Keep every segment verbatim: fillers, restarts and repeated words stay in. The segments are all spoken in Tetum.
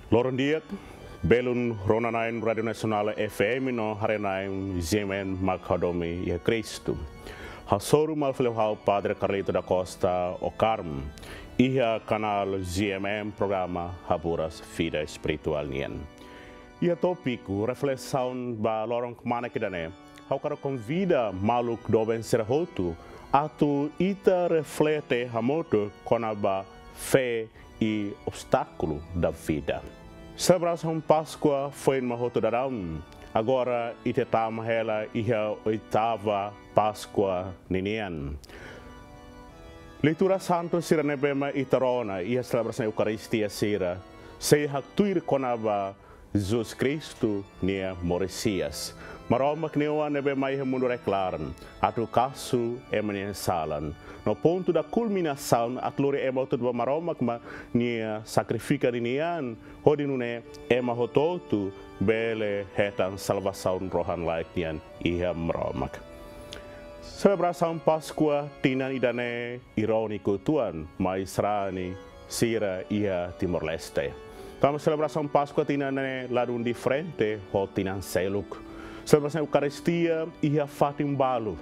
Loron di'ak, belun rona-na'in Rádiu Nasionál F M no haree-na'in G M M mak hadomi iha Kristu. Hasoru malu fali ho ha'u Padre Carlito da Costa Ocarmo, iha kanál G M M programa Haburas Vida Espirituál nian. Iha tópiku reflesaun ba loron kmanek ida-ne'e, ha'u hakarak konvida maluk doben sira hotu atu ita reflete hamutuk kona-ba fé e obstáculo da vida. Selebrasaun Páskua foin mak hotu daudaun, agora ita tama hela iha oitava Páskua ninian. Leitura santu sira ne'ebé mak ita rona iha selebrasaun Eukaristia sira, sei haktuir kona-ba Jesus Kristu nia moris hi'as. Maromak nia Oan ne'ebé mai iha mundu reklaran atu kasu ema nia salan. No pontu da kulminasaun atu lori ema hotu ba Maromak mak nia sakrifika ninian, hodi nune'e ema hotu-hotu bele hetan salvasaun rohan-laek nian iha Maromak. Selebrasaun Páskua tinan ida-ne'e iróniku uitoan mai sarani sira iha Timor-Leste. Tanba selebrasaun Páskua tinan ne'e ladún diferente ho tinan seluk. Selebrasaun Eukaristia iha fatin balu,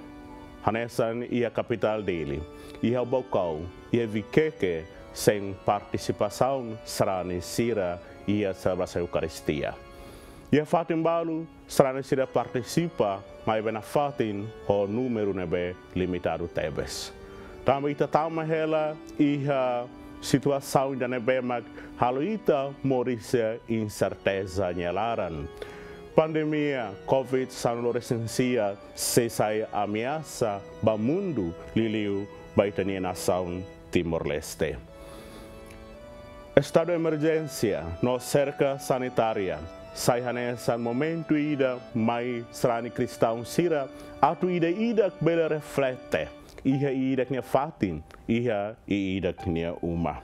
hanesan iha kapitál Dili, iha Baucau, iha Viqueque, sein partisipasaun sarani sira iha selebrasaun Eukaristia. Iha fatin balu, sarani sira partisipa maibé nafatin ho númeru ne'ebé limitadu tebes. Tanba ita tama hela iha situasaun ida ne'ebé mak halo ita moris iha inserteza nia laran. Pandemia Covid sanulu resin sia sei sai ameasa ba mundu, liuliu ba ita-nia nasaun Timor-Leste. Estadu emerjénsia no serka sanitária sai hanesan momentu ida mai sarani kristaun sira atu ida-idak bele reflete iha ida-idak nia fatin, iha ida-idak nia uma.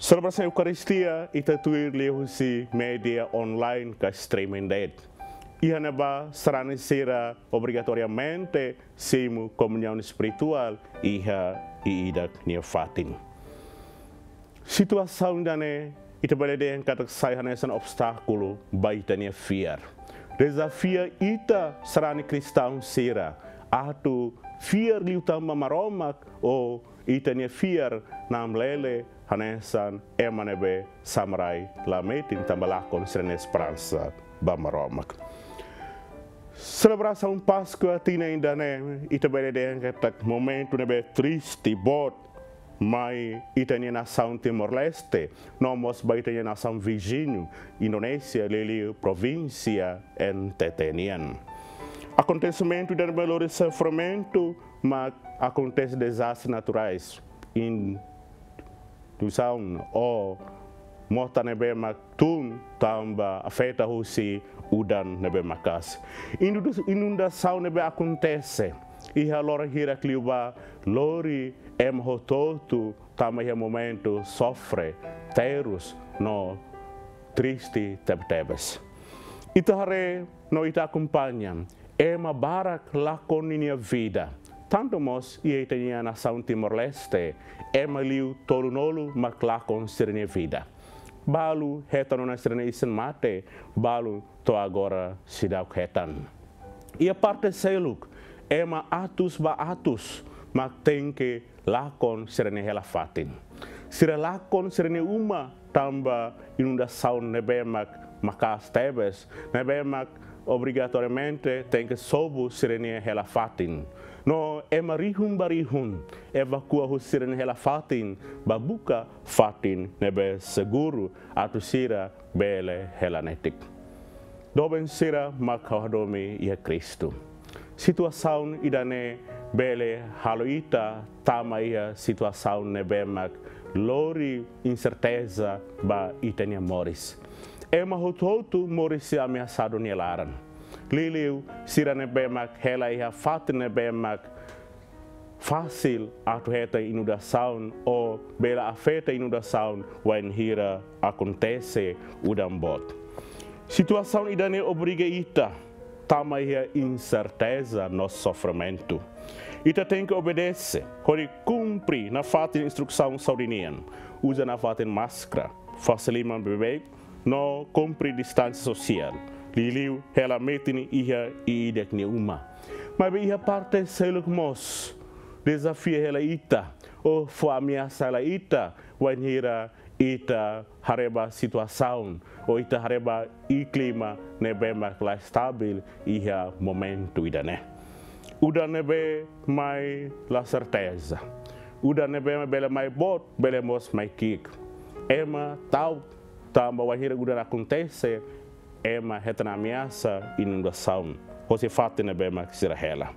Selebrasaun Eukaristia ita tuir liuhusi média online ka streaming de'it. Iha ne'ebá sarani sira obrigatoriamente simu komuñaun espirituál iha ida-idak nia fatin. Situasaun ida-ne'e ita bele dehan katak sai hanesan obstákulu ba ita-nia fiar. Dezafia ita sarani kristaun sira atu fiar liután ba Maromak ou ita-nia fiar namlele hanesan ema ne'ebé samarai la metin tanba lakon sira-nia esperansa ba Maromak. Selebrasaun Páskua tinan ida-ne'e ita bele dehan katak momentu ne'ebé triste boot mai ita-nia nasaun Timor-Leste, no mós ba ita-nia nasaun viziñu Indonézia, liuliu provínsia N T T nian. Akontesimentu ida ne'ebé lori sofrimentu mak akontese dezastre naturais, inundasaun ou mota ne'ebé mak tun tanba afeta husi udan ne'ebé maka'as. Inundu-, inundasaun ne'ebé akontese iha loron hirak liubá lori ema hotu-hotu tama iha momentu sofre terus no triste tebetebes. Ita haree no ita akompaña ema barak lakon ninia vida. Tantu mós iha ita-nia nasaun Timor-Leste, ema liu tolunulu mak lakon sira-nia vida. Balu hetan ona sira-nia isin mate, balu to'o agora seidauk hetan. Iha parte seluk, ema atus ba atus mak tenke lakon sira-nia hela-fatin. Sira lakon sira-nia uma tanba inundasaun ne'ebé mak maka'as tebes, ne'ebé mak obrigatoriamente tenke sobu sira-nia hela-fatin. No ema rihun ba rihun evakua husi sira-nia hela-fatin ba buka fatin ne'ebé seguru atu sira bele hela netik. Doben sira mak ha'u hadomi iha Kristu. Situasaun ida-ne'e bele halo ita tama iha situasaun ne'ebé mak lori inserteza ba ita-nia moris. Ema hotu-hotu moris sei ameasadu nia laran. Liuliu sira ne'ebé mak hela iha fatin ne'ebé mak fasil atu hetan inundasaun ou bele afeta inundasaun wainhira akontese udan boot. Situasaun ida-ne'e obriga ita tama iha inserteza no sofrimentu. Ita tenke obedese hodi kumpre nafatin instrusaun saúde nian. Uza nafatin máskara, fase liman beibeik, no kumpre distánsia sosiál, liuliu hela metin iha ida-idak nia uma. Maibé iha parte seluk mós, dezafiu hela ita, ou fó ameasa hela ita, wainhira ita haree ba situasaun, ou ita haree ba iklima ne'ebé mak la estabil iha momentu ida-ne'e. Udan ne'ebé mai la serteza. Udan ne'ebé mai bele mai boot, bele mós mai ki'ik. Ema ta'uk tanba wainhira udan akontese, ema hetan ameasa inundasaun hosi fatin ne'ebé mak sira hela.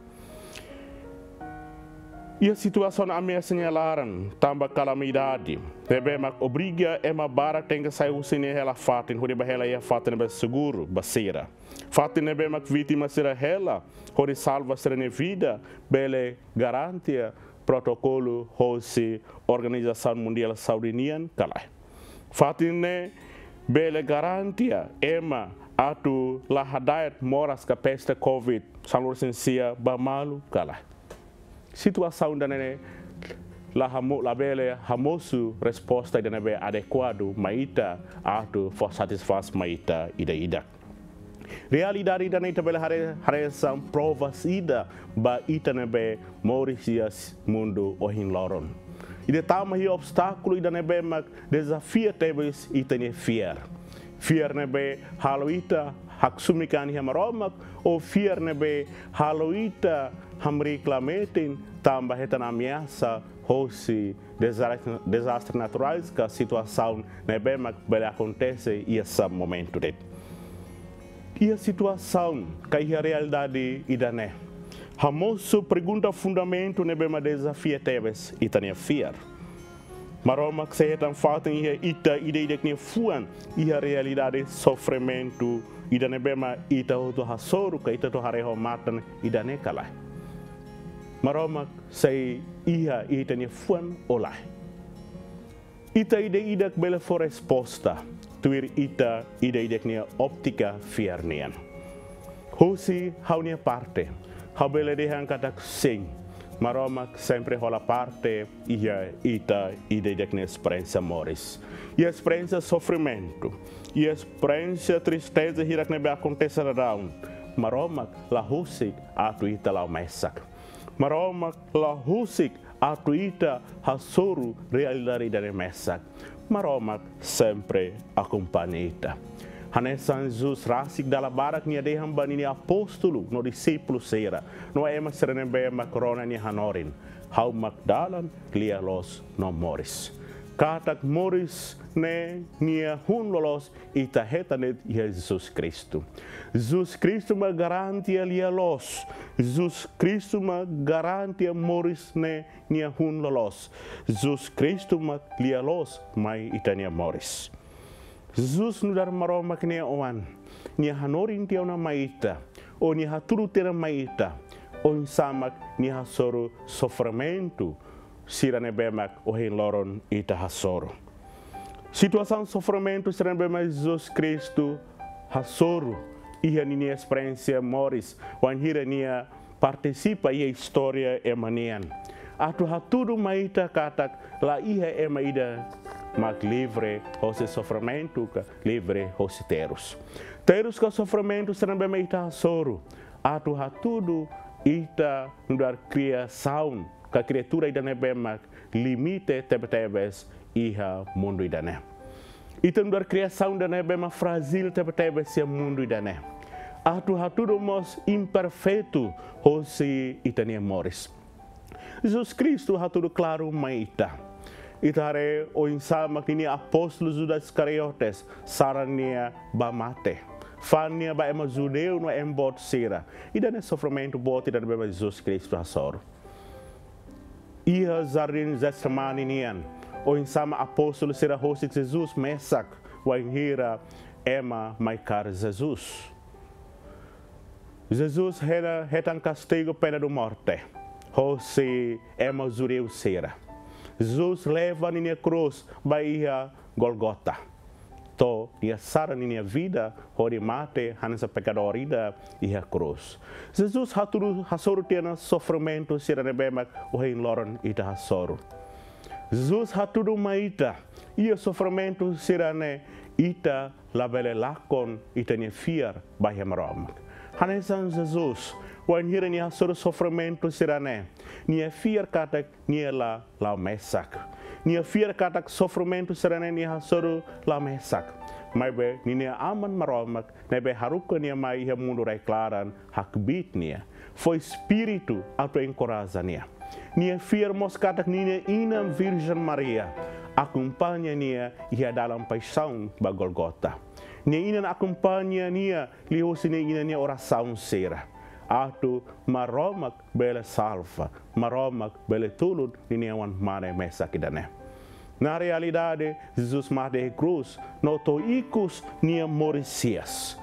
Iha situasaun ameasa nia laran, tanba kalamidade ne'ebé mak obriga ema barak tenke sai husi nia hela fatin hodi bá hela iha fatin ne'ebé seguru ba sira. Fatin ne'ebé mak vítima sira hela hodi salva sira-nia vida, bele garantia protokolu hosi Organizasaun Mundiál Saúde nian ka lae. Fatin ne'e bele garantia ema atu la hada'et moras ka peste covid sanulu-resin-sia ba malu ka lae. Situasaun ida-ne'e la hamo-, labele hamosu resposta ida ne'ebé adekuadu mai ita atu fó satisfás mai ita ida-idak. Realidade ida-ne'e ita bele haree, hanesan provas ida ba ita ne'ebé moris iha mundu ohin loron. Ita tama iha obstákulu ida ne'ebé mak dezafia tebes ita-nia fiar. Fiar ne'ebé halo ita haksoit an iha Maromak, ou fiar ne'ebé halo ita hamriik la metin tanba hetan ameasa hosi dezastre, dezastre naturais ka situasaun ne'ebé mak bele akontese iha sá momentu de'it. Iha situasaun ka iha realidade ida-ne'e, hamosu pergunta fundamentu ne'ebé mak dezafia tebes ita-nia fiar. Maromak sei hetan fatin iha ita ida-idak nia fuan iha realidade sofrimentu ida ne'ebé mak ita hotu hasoru ka ita hotu haree ho matan ida-ne'e ka lae? Maromak sei iha ita-nia fuan ou lae? Ita ida-idak bele fó resposta tuir ita ida-idak nia óptika fiar nian. Husi ha'u-nia parte, ha'u bele dehan katak sin, Maromak sempre hola parte iha ita ida-idak nia esperiénsia moris. Iha esperiénsia sofrimentu, iha esperiénsia tristeza hirak ne'ebé akontese daudaun, Maromak la husik atu ita la'o mesak. Maromak la husik atu ita hasoru realidade ida-ne'e mesak. Maromak sempre akompaña ita. Hanesan Jesus rasik dala barak nia dehan ba ninia apóstolu no dixípulu sira, no ema sira ne'ebé mak rona nia hanorin: Ha'u mak dalan, lia-loos no moris. Katak moris ne'e nia hun loloos ita hetan de'it iha Jesus Kristu. Jesus Kristu mak garantia lia-loos. Jesus Kristu mak garantia moris ne'e nia hun loloos. Jesus Kristu mak lia-loos mai ita-nia moris. Jesus nu'udar Maromak nia Oan, nia hanorin tiha ona mai ita, ou nia hatudu tiha ona mai ita oinsá mak nia hasoru sofrimentu sira ne'ebé mak ohin loron ita hasoru. Situasaun sofrimentu sira ne'ebé mak Jesus Kristu hasoru iha ninia esperiénsia moris, wainhira nia partisipa iha istória ema nian. Atu hatudu mai ita katak la iha ema ida mak livre hosi sofrimentu ka livre hosi terus. Terus ka sofrimentu sira ne'ebé mak ita hasoru, atu hatudu ita nu'udar kriasaun ka kriatura ida ne'ebé mak limite tebe-tebes iha mundu ida-ne'e. Ita nu'udar kriasaun ida ne'ebé mak frájil tebe-tebes iha mundu ida-ne'e. Atu hatudu mós imperfeitu hosi ita-nia moris. Jesus Kristu hatudu klaru mai ita. Ita haree oinsá mak ninia apóstolu Judas Iscariotes saran nia bá mate. Fa'an nia ba ema judeu no ema boot sira. Ida-ne'e sofrimentu boot ida ne'ebé mak Jesus Kristu hasoru. Iha jardín Getsemane nian, oinsá mak apóstolu sira husik Jesus mesak wainhira ema mai kaer Jesus. Jesus hela hetan kastigu pena de morte hosi ema judeu sira. Jesus leva ninia krús ba iha Gólgota. To'o nia sara ninia vida hodi mate hanesan pekadór ida iha krús. Jesus hatudu hasoru tiha ona sofrimentu sira ne'ebé mak ohin loron ita hasoru. Jesus hatudu mai ita, iha sofrimentu sira-ne'e ita labele lakon ita-nia fiar ba iha Maromak. Hanesan Jesus, wainhira nia hasoru sofrimentu sira-ne'e, nia fiar katak nia la la'o mesak. Nia fiar katak sofrimentu sira-ne'e nia hasoru la mesak. Maibé ninia Aman Maromak ne'ebé haruka nia mai iha mundu rai-klaran hakbiit nia, fó espíritu atu enkoraja nia. Nia fiar mós katak ninia inan Virjen Maria akompaña nia iha dalan paixaun ba Gólgota. Nia inan akompaña nia liuhusi nia inan nia orasaun sira, atu Maromak bele salva, Maromak bele tulun ninia oan-mane mesak ida-ne'e. Na realidade, Jesus mate iha krús no to'o ikus nia moris hi'as.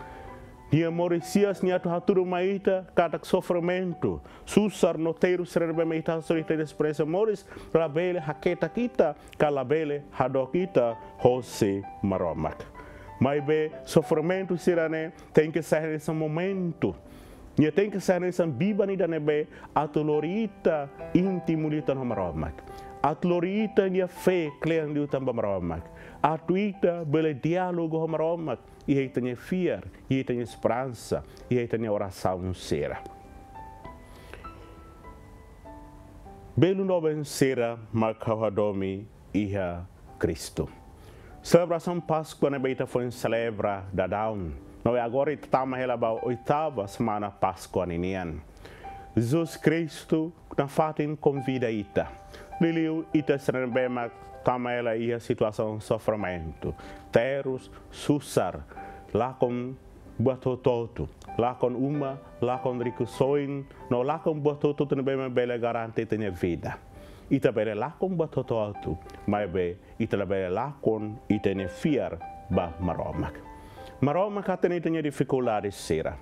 Nia moris hi'as ne'e atu hatudu mai ita katak sofrimentu, susar no terus sira ne'ebé mak ita hasoru iha ita-nia esperiénsia moris, labele haketak ita, ka labele hadook ita hosi Maromak. Maibé sofrimentu sira-ne'e tenke sai hanesan momentu. Nia tenke sai hanesan biban ida ne'ebé atu lori ita íntimo liután ho Maromak. Atu lori ita-nia fé kle'an liután ba Maromak. Atu ita bele diálogu ho Maromak iha ita-nia fiar, iha ita-nia esperansa, iha ita-nia orasaun sira. Belun doben sira mak ha'u hadomi iha Kristu. Selebrasaun Páskua ne'ebé ita foin selebra daudaun, no agora ita tama hela ba oitava semana Páskua ninian. Jesus Kristu nafatin konvida ita. Liuliu ita sira ne'ebé mak tama hela iha situasaun sofrimentu, terus, susar, lakon buat hotu-hotu, lakon uma, lakon rikusoin, no lakon buat hotu-hotu ne'ebé mak bele garante ita-nia vida. Ita bele lakon buat hotu-hotu, maibé ita labele lakon ita-nia fiar ba Maromak. Maromak hatene ita-nia difikuldade sira.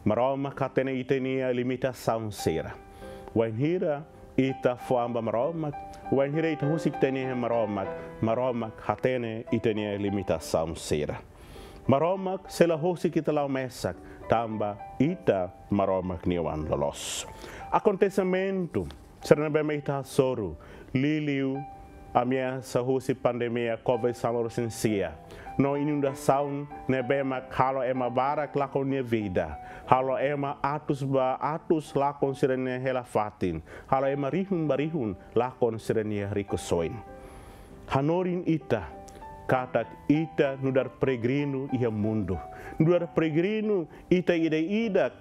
Maromak hatene ita-nia limitasaun sira. Wainhira ita fó an ba Maromak, wainhira ita husik ita-nia an ba Maromak, Maromak hatene ita-nia limitasaun sira. Maromak sei la husik ita la'o mesak, tanba ita Maromak nia oan loloos. Akontesimentu sira ne'ebé mak ita hasoru, liuliu ameasa husi pandemia Covid sanulu-resin-sia, no inundasaun ne'ebé mak halo ema barak lakon nia vida, halo ema atus ba atus lakon sira-nia hela-fatin, halo ema rihun ba rihun lakon sira-nia rikusoin. Hanorin ita katak ita nu'udar peregrinu iha mundu. Nu'udar peregrinu ita ida-idak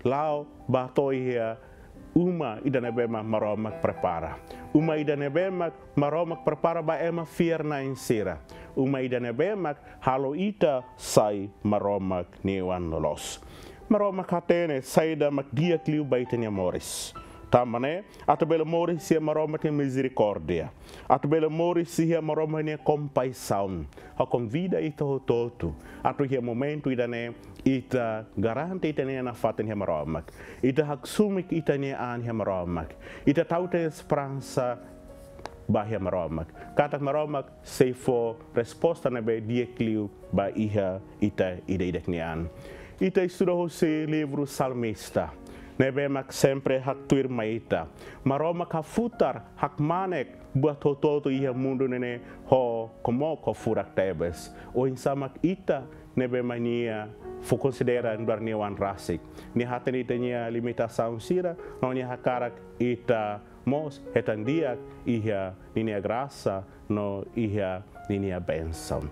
la'o ba to'o iha uma ida ne'ebé mak Maromak prepara. Uma ida ne'ebé mak Maromak prepara ba ema fiar-na'in sira. Uma ida ne'ebé mak halo ita sai Maromak nia oan loloos. Maromak hatene saida mak di'ak liu ba ita-nia moris. Tanba ne'e, atu bele moris iha Maromak nia mizerikórdia, atu bele moris iha Maromak nia kompaixaun, ha'u konvida ita hotu-hotu atu iha momentu ida-ne'e ita garante ita-nia nafatin iha Maromak. Ita haksoit ita-nia an iha Maromak. Ita tau ita-nia esperansa ba iha Maromak. Katak Maromak sei fó resposta ne'ebé di'ak liu ba iha ita ida-idak nia an. Ita estuda husi livru Salmista, ne'ebé mak sempre haktuir mai ita. Maromak hafutar, hakmanek buat hotu-hotu iha mundu ne'e ho komok ho furak tebes. Oinsá mak ita ne'ebé mak nia fó konsidera nu'udar nia oan rasik. Nia hatene ita-nia limitasaun sira, no nia hakarak ita mós hetan di'ak iha ninia grasa no iha ninia bensaun.